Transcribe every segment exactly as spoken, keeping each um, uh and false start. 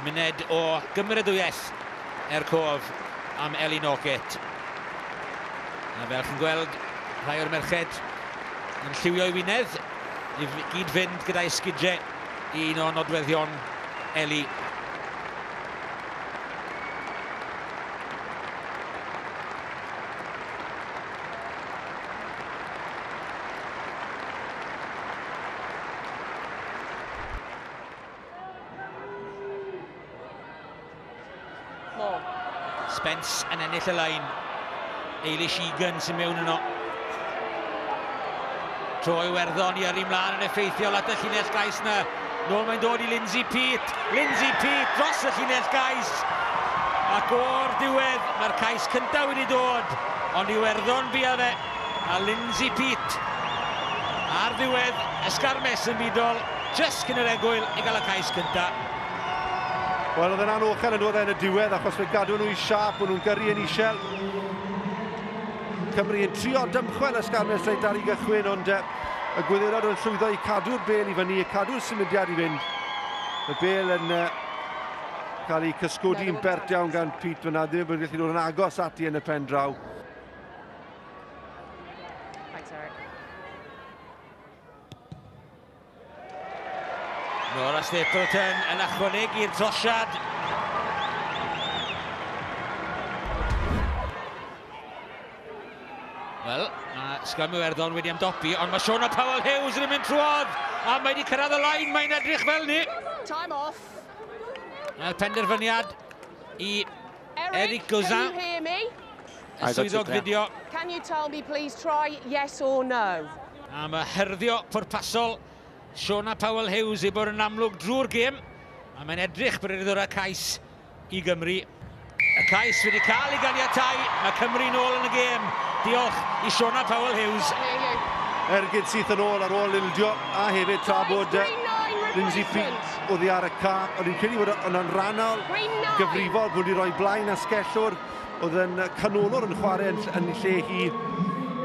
Muned o gymeradwyaeth er cof am Ellie Norgate. A fel chi'n gweld, rhai o'r merched yn lliwio i wynedd i gyd fynd gyda'i sgidiau i un o nodweddion Ellie. Spence yn ennill y lein. Eilish Egan sy'n mewn yno. Tro Iwerddon i yrru mlaen yn effeithiol at y llinell gais na. Nôl mae'n dod i Lindsay Peat. Lindsay Peat dros y llinell gais. Ac o'r diwedd, mae'r cais cyntaf wedi dod. Ond Iwerddon bia fe. A Lindsay Peat ar ddiwedd ysgarmes yn fudol, jyst cyn yr egwyl i gael y cais cyntaf. Wel, oedd yn anochel yn dod yn y diwedd, achos fe gadw nhw i siap, o'n nhw'n gyrru yn isel. Cymru yn trio dymchwel ysgarmes reit ar ei gychwyn, ond y Gwyddelod yn llwyddo i cadw'r bel i fyny, cadw'r symudiad i fynd. Y bel yn uh, cael ei cysgodi yn bert iawn gan Pete fyna, ddim yn gallu dod yn agos ati yn y pen draw. Thanks, Eric. Nora Stapleton yn ychwanegu'r trosiad. Wel, mae sgrym Iwerddon wedi ymdopi, ond mae Shauna Powell Hughes yn mynd trwodd, a mae wedi cyrraedd y lain, mae'n edrych fel ni. Time off. Mae'r penderfyniad i Eric Gauzin. Can you hear me? Y swyddog fideo. Can you tell me, please, try yes or no? A mae hyrddio pwrpasol Shauna Powell Hughes i bod yn amlwg drwy'r gêm, a mae'n edrych bod wedi dod â cais i Gymru. Y cais wedi cael ei ganiatáu, mae Cymru nôl yn y gêm. Diolch i Shauna Powell Hughes. Ergyd syth yn ôl ar ôl ildio, a hefyd tra bod Lindsay Peat oddi ar y ca. O'n i'n credu bod yna'n rannol gyfrifol bod wedi rhoi blaen asgellwr, oedd yn canolwr yn chwarae yn, yn lle hi.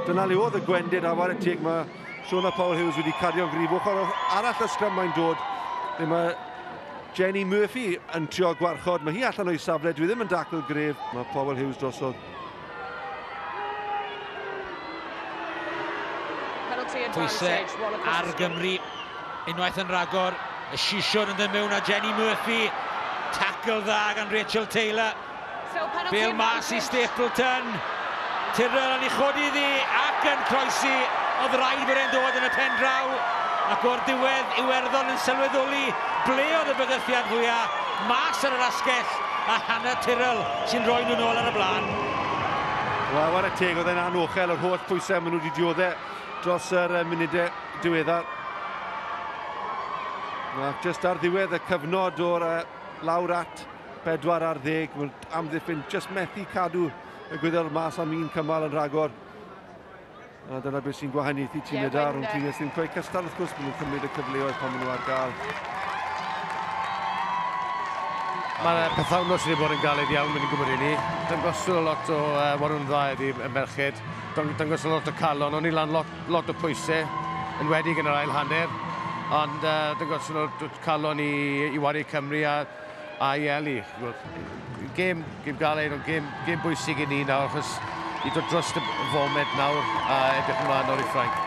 Dyna le oedd y gwendid, a whare teg mae Shauna Powell Hughes wedi cario'n gryf. Ochr arall y sgrym mae'n dod, le mae Jenny Murphy yn trio gwarchod. Mae hi allan o'i safle, dwi ddim yn dacl gref. Mae Powell Hughes drosodd. Pwysau ar Gymru, unwaith yn rhagor, y sisiwn yn dod mewn a Jenny Murphy. Tackle dda gan Rachel Taylor. Bel mas i Stapleton. Tyrrell yn ei chodi iddi ac yn croesi. Oedd rhaid bod e'n dod yn y pen draw. Ac o'r diwedd, Iwerddon yn sylweddoli ble oedd y bygythiad fwyaf, mas ar yr asgell, a Hannah Tyrrell sy'n rhoi nhw nôl ar y blaen. Wel, whare teg, oedd e'n anochel yr holl pwysau maen nhw wedi dioddef dros yr munudau diweddar. Ac jyst ar ddiwedd y cyfnod o'r lawr at bedwar ar ddeg, mae'n amddiffyn jyst methu cadw y Gwyddelod mas am un cymal yn rhagor. A dyna beth sy'n gwahaniaethu tîmau da rhwng tîmau sy'n cweith cystal, wrth gwrs, maen nhw'n cymryd y cyfleoedd pan maen nhw ar gael. Mae'r pythefnos wedi bod yn galed iawn, mae'n gwybod i ni. Dangoswn lot o uh, warwn dda iddi y merched. Dangoswn lot o calon, o'n i lan lot, lot o pwysau, yn wedi yn yr ail hanner. Ond uh, dangoswn lot o calon i, i wario Cymru a, a i Eli. Gêm, gêm galed, ond gêm, gêm bwysig i ni nawr, achos i dod dros y foment nawr a edrych ymlaen nawr i Ffrainc.